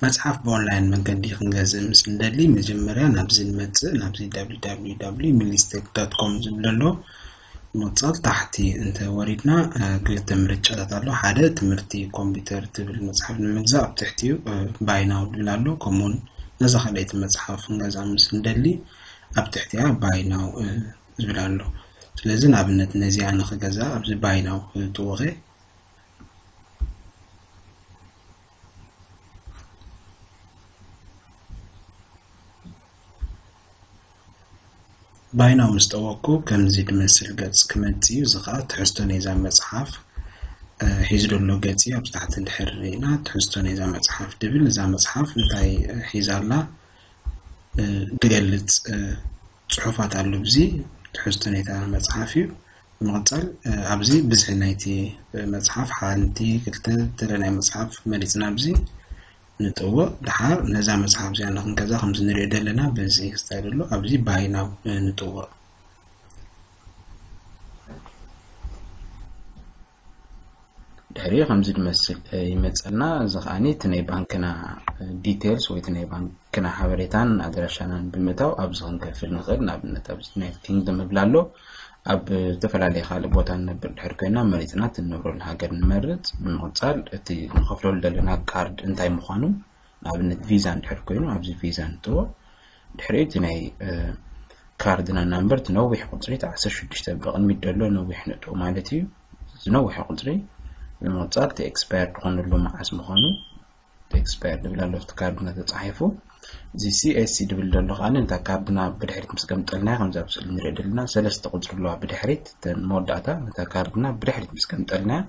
መጽሓፍ ብኦንላይን መንገዲ ክንገዝእ ምስ እንደሊ፣ መጀመርያ ናብዚ ንመጽእ፣ ናብዚ www ሚሊስቴክ ዶት ኮም ዝብል ኣሎ። ምቕጻል ታሕቲ እንተ ወሪድና፣ እ፣ ክልተ ምርጫታት ኣሎ። ሓደ ትምህርቲ ኮምፒውተር ትብል መጽሓፍ ንምግዛእ ኣብ ትሕቲኡ፣ እ፣ ባይ ናው ዝብል ኣሎ። ከምኡውን ነዛ ካልኣይቲ መጽሓፍ ክንገዝኣ ምስ እንደሊ ኣብ ትሕቲኣ ባይ ናው፣ እ፣ ዝብል ኣሎ። ስለዚ ንኣብነት ነዚኣ ንኽገዝኣ ኣብዚ ባይ ናው፣ እ፣ ጥውቐ። ባይ ናው ምስ ጠወቅኩ ከምዚ ዝመስል ገጽ ክመጽእ እዩ። እዚ ኸኣ ትሕዝቶ ናይዛ መጽሓፍ፣ እ፣ ሒዙ ዘሎ ገጽ እዩ። ኣብዚ ታሕቲ እንድሕር ርኢና ትሕዝቶ ናይዛ መጽሓፍ ድብል፣ እዛ መጽሓፍ እንታይ፣ እ፣ ሒዛ ኣላ፣ እ፣ ድገልጽ፣ እ፣ ጽሑፋት ኣሎ። ኣብዚ ትሕዝቶ ናይታ መጽሓፍ እዩ። ብምቕጻል፣ እ፣ ኣብዚ ብዝሒ ናይቲ፣ እ፣ መጽሓፍ ሓንቲ፣ ክልተ፣ ገለ ናይ መጽሓፍ መሪጽና ኣብዚ ንጥውቕ። ደሓር ነዛ መጽሓፍ እዚኣ ንኽንገዛ ከምዚ ንሪኦ ዘለና በዚ ስታይል ኣሎ። ኣብዚ ባይ ናው፣ እ፣ ንጥውቕ። ድሕሪ ከምዚ ዝመስል፣ እ፣ ይመጸልና። እዚ ከኣኒ እቲ ናይ ባንክና፣ እ፣ ዲቴልስ ወይ እቲ ናይ ባንክና ሓበሬታን ኣድራሻናን ብምእታው ኣብዚ ክንከፍል ንኽእል። ንኣብነት ኣብዚ ዩናይትድ ኪንግደም ይብል ኣሎ። ኣብ ዝተፈላለየ ካልእ ቦታ ንነብር ድሕር ኮይና መሪጽና እቲ ንነብረሉ ሃገር ንመርጽ። ብምቕጻል እቲ ንኸፍለሉ ዘለና ካርድ እንታይ ምዃኑ ንኣብነት ቪዛ እንድሕር ኮይኑ ኣብዚ ቪዛ ንጥዎ። ድሕሪኡ እቲ ናይ፣ እ፣ ካርድና ናምበር እቲ ነዊሕ ቁጽሪ እቲ ዓሰርተ ሽዱሽተ ብቕድሚት ዘሎ ነዊሕ ንጥዎ ማለት እዩ። እዚ ነዊሕ ቁጽሪ ብምቕጻል እቲ ኤክስፓየር ዝኾነሉ መዓስ ምዃኑ እቲ ኤክስፓየር ዝብል ኣሎ ኣብቲ ካርድና ተጻሒፉ። እዚ ሲ ኤስ ሲ ዝብል ዘሎ ከኣ ነታ ካርድና ብድሕሪት ምስ ገምጠልናያ ከምዚ ኣብ ስእሊ ንሪኦ ዘለና ሰለስተ ቁጽሪ ኣለዋ ብድሕሪት እተን መወዳእታ ነታ ካርድና ብድሕሪት ምስ ገምጠልናያ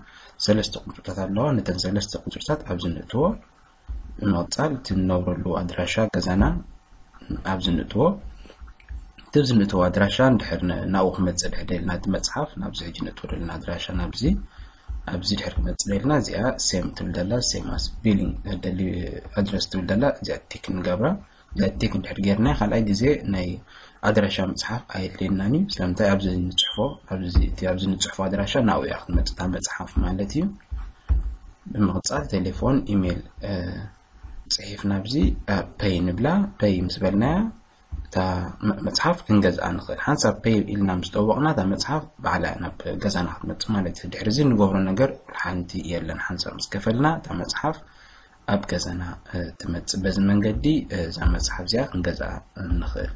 ሰለስተ ቁጽርታት ኣለዋ። ነተን ሰለስተ ቁጽርታት ኣብዚ ንእትዎ። ብምቕጻል እቲ ንነብረሉ ኣድራሻ ገዛና ኣብዚ ንእትዎ። እቲ ኣብዚ ንእትዎ ኣድራሻ እንድሕር ን-፣ ናብኡ ክመጽእ ድሕር ደልና እቲ መጽሓፍ ናብዚ ሕጂ ንእትዎ ዘለና ኣድራሻ ናብዚ ኣብዚ ድሕር ክመጽእ ደልና እዚኣ ሴም ትብል ደላ ሴም ኣስ ቢሊንግ ደሊ ኣድረስ ትብል ደላ እዚኣ ቲክ ንገብራ። እዚኣ ቲክ እንድሕር ጌርና ካልኣይ ግዜ ናይ ኣድራሻ ምጽሓፍ ኣየድልየናን እዩ። ስለምንታይ ኣብዚ ንጽሕፎ ኣብዚ እቲ ኣብዚ ንጽሕፎ ኣድራሻ ናብኡ እያ ክትመጽእ እታ መጽሓፍ ማለት እዩ። ብምቕጻል ቴሌፎን፣ ኢሜይል፣ እ፣ ጽሒፍና ኣብዚ፣ እ፣ ፐይ ንብላ። ፐይ ምስ በልናያ እታ መ-፣ መጽሓፍ ክንገዝኣ ንኽእል። ሓንሳብ ፐይ ኢልና ምስ ጠወቕና እታ መጽሓፍ ባዕላ ናብ ገዛና ክትመጽእ ማለት እዩ። ድሕሪ እዚ ንገብሮ ነገር ሓንቲ የለን። ሓንሳብ ምስ ከፈልና እታ መጽሓፍ ኣብ ገዛና፣ እ፣ ትመጽእ። በዚ መንገዲ፣ እ፣ እዛ መጽሓፍ እዚኣ ክንገዝኣ ንኽእል።